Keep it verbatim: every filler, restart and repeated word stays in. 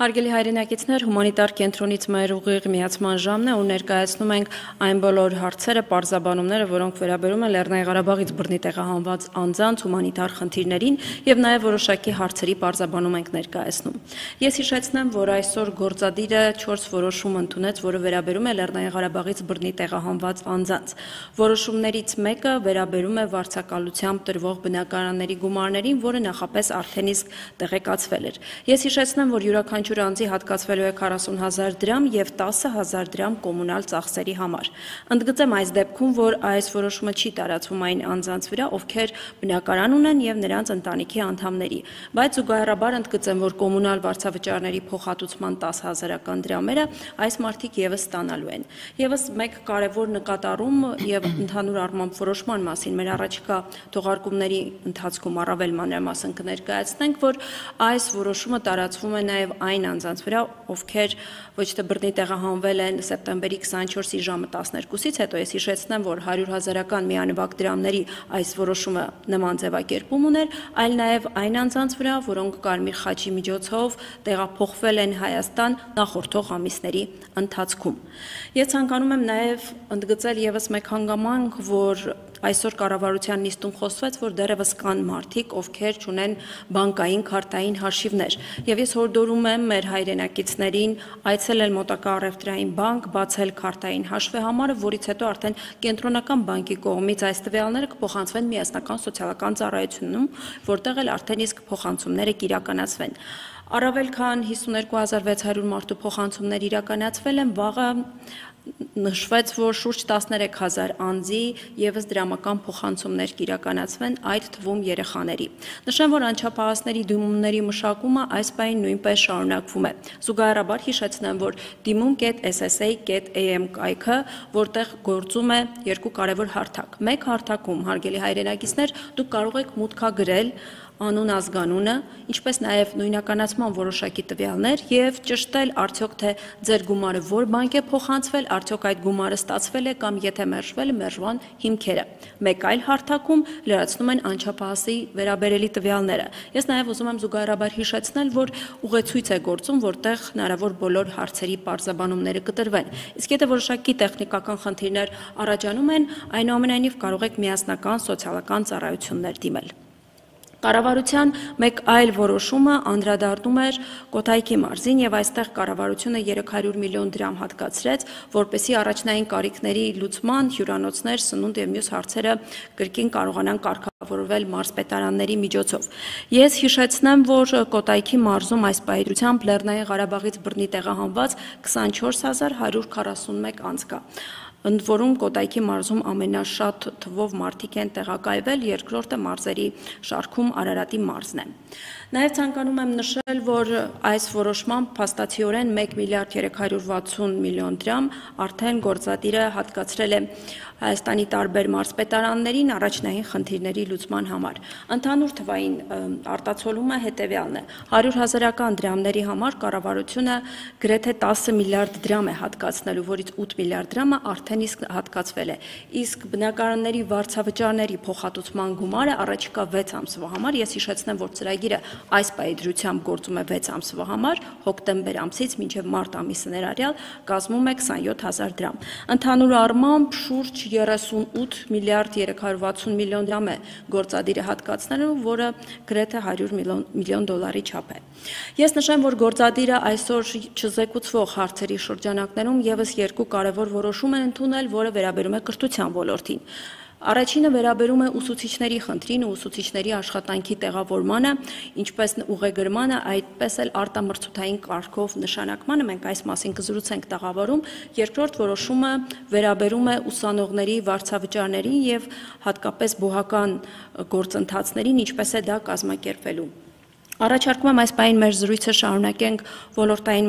Հարգելի հայրենակիցներ, հումանիտար կենտրոնից մեր ուղիղ միացման ժամն է ու ներկայացնում ենք այն բոլոր հարցերը, պարզաբանումները, որոնք վերաբերում են Լեռնային Ղարաբաղից բռնի տեղահանված անձանց հումանիտար խնդիրներին եւ նաեւ որոշակի հարցերի պարզաբանում ենք ներկայացնում։ Ես հիշեցնեմ, որ այսօր գործադիրը չորս որոշում ընդունեց, որը վերաբերում է Լեռնային Ղարաբաղից բռնի տեղահանված անձանց։ Որոշումներից մեկը վերաբերում է վարձակալությամբ տրվող բնակարանների գումարներին, որը նախապես արդեն իսկ տեղեկացվել էր։ Ես հիշեցնեմ, որ յուրաքանչյուր անձի հատկացվելու է քառասուն հազար դրամ եւ տասը հազար դրամ կոմունալ ծախսերի համար։ Ընդգծեմ այս դեպքում, որ այս որոշումը չի տարածվում այն անձանց վրա, ովքեր բնակարան ունեն եւ նրանց ընտանիքի անդամների, բայց զուգահեռաբար ընդգծեմ, որ կոմունալ վարձավճարների փոխհատուցման տասը հազարական դրամերը այս մարդիկ եւս ստանալու են։ Եվս մեկ կարևոր նկատառում եւ ընդհանուր առմամբ որոշման մասին մեր առաջիկա թողարկումների ընթացքում առավել մանրամասն կներկայացնենք, որ այս որոշումը տարածվում է նաեւ այն անձանց վրա, ովքեր ոչ թե բռնի տեղահանվել են սեպտեմբերի քսաներկուսի ժամը տասներկուսից հետո, ես հիշեցնեմ, որ հարյուր հազարական միանվագ դրամների այս որոշումը նման ձևակերպում ուներ, այլ նաեւ այն անձանց վրա, որոնք Կարմիր խաչի միջոցով տեղափոխվել են Հայաստան նախորդող ամիսների ընթացքում։ Ես ցանկանում եմ նաեւ ընդգծել եւս մեկ հանգամանք, որ այսօր կառավարության նիստում խոսվեց, որ դեռևս կան մարդիկ, ովքեր չունեն բանկային քարտային հաշիվներ, եւ ես հորդորում եմ մեր հայրենակիցներին այցելել մոտակա առևտրային բանկ, բացել քարտային հաշվեհամարը, որից հետո արդեն կենտրոնական բանկի կողմից այս տվյալները կփոխանցվեն միասնական սոցիալական ծառայությունում, որտեղ էլ արդեն իսկ փոխանցումները կիրականացվեն։ Առավել քան հիսուներկու հազար վեց հարյուր մարդու փոխանցումներ իրականացվել են, վաղը նշվեց, որ շուրջ տասներեք հազար անձի եւս դրամական փոխանցումներ կիրականացվեն, այդ թվում երեխաների։ Նշեմ, որ անչափահասների դիմումների մշակումը այս պահին նույնպես շարունակվում է։ Զուգահեռաբար հիշեցնեմ, որ դիմում կետ էս էս էյ կետ էյ էմ կայքը, որտեղ գործում է երկու կարևոր հարթակ։ Մեկ հարթակում, հարգելի հայրենակիցներ, դուք կարող եք մուտքագրել անուն ազգանունը, ինչպես նաև նույնականացման որոշակի տվյալներ եւ ճշտել արդյոք թե ձեր գումարը որ բանկ է փոխանցվել, արդյոք այդ գումարը ստացվել է կամ եթե մերժվել է մերժման հիմքերը։ Մեկ այլ հարթակում լրացնում են անչափահասի վերաբերելի տվյալները։ Ես նաև ուզում եմ զուգահեռաբար հիշեցնել, որ ուղեցույց է գործում, որտեղ հնարավոր բոլոր հարցերի պարզաբանումները կտրվեն։ Իսկ եթե որոշակի տեխնիկական խնդիրներ առաջանում են, այնուամենայնիվ կարող եք միասնական սոցիալական ծառայություններ դիմել։ Կառավարության մեկ այլ որոշումը անդրադառնում էր Կոտայքի մարզին եւ այստեղ կառավարությունը երեք հարյուր միլիոն դրամ հատկացրեց, որպեսզի առաջնային կարիքների լուծման, հյուրանոցներ, սնունդ եւ մյուս հարցերը կրկին կարողանան կարգավորվել մարզպետարանների միջոցով։ Ես հիշեցնեմ, որ Կոտայքի մարզում այս պայծրությամբ Լեռնային Ղարաբաղից բռնի տեղահանված քսանչորս հազար հարյուր քառասունմեկ անձ կա։ Ընդ որում Կոտայքի մարզում ամենաշատ թվով մարդիկ են տեղակայվել, երկրորդը մարզերի շարքում Արարատի մարզն է։ Նաև ցանկանում եմ նշել, որ այս որոշմամբ փաստացիորեն մեկ միլիարդ երեք հարյուր վաթսուն միլիոն դրամ արդեն գործադիրը հատկացրել է Հայաստանի տարբեր մարզպետարաններին առաջնային խնդիրների լուծման համար։ Ընդհանուր թվային արտացոլումը հետևյալն է. հարյուր հազարական դրամների համար կառավարությունը գրեթե տասը միլիարդ դրամ է հատկացնելու, որից ութ միլիարդ դրամը արդեն իսկ հատկացվել է։ Իսկ բնակարանների վարձավճարների փոխհատուցման գումարը առաջիկա վեց ամսվա համար, ես հիշեցնեմ, որ ծրագիրը այս պայծրությամբ գործում է վեց ամսվա համար, հոկտեմբեր ամսից մինչև մարտ ամիսը ներառյալ կազմում է քսանյոթ հազար դրամ։ Ընդհանուր առմամբ շուրջ երեսունութ միլիարդ երեք հարյուր վաթսուն միլիոն դրամ է գործադիրը հատկացնելու, որը գրեթե հարյուր միլիոն դոլարի չափ է։ Ես նշեմ, որ գործադիրը այսօր չզեկուցվող հարցերի շրջանակներում եւս երկու կարևոր որոշում են ընդունել, որը վերաբերում է կրթության ոլորտին։ Առաջինը վերաբերում է ուսուցիչների խնդրին ու ուսուցիչների աշխատանքի տեղավորմանը, ինչպես ուղեգրմանը, այդպես էլ արտամրցութային կարգով նշանակմանը, մենք այս մասին կզրուցենք տաղավարում։ Երկրորդ որոշումը վերաբերում է ուսանողների վարձավճարներին եւ հատկապես բուհական գործընթացներին, ինչպես է դա կազմակերպվելու։ Առաջարկում եմ այս պահին մեր զրույցը շարունակենք ոլորտային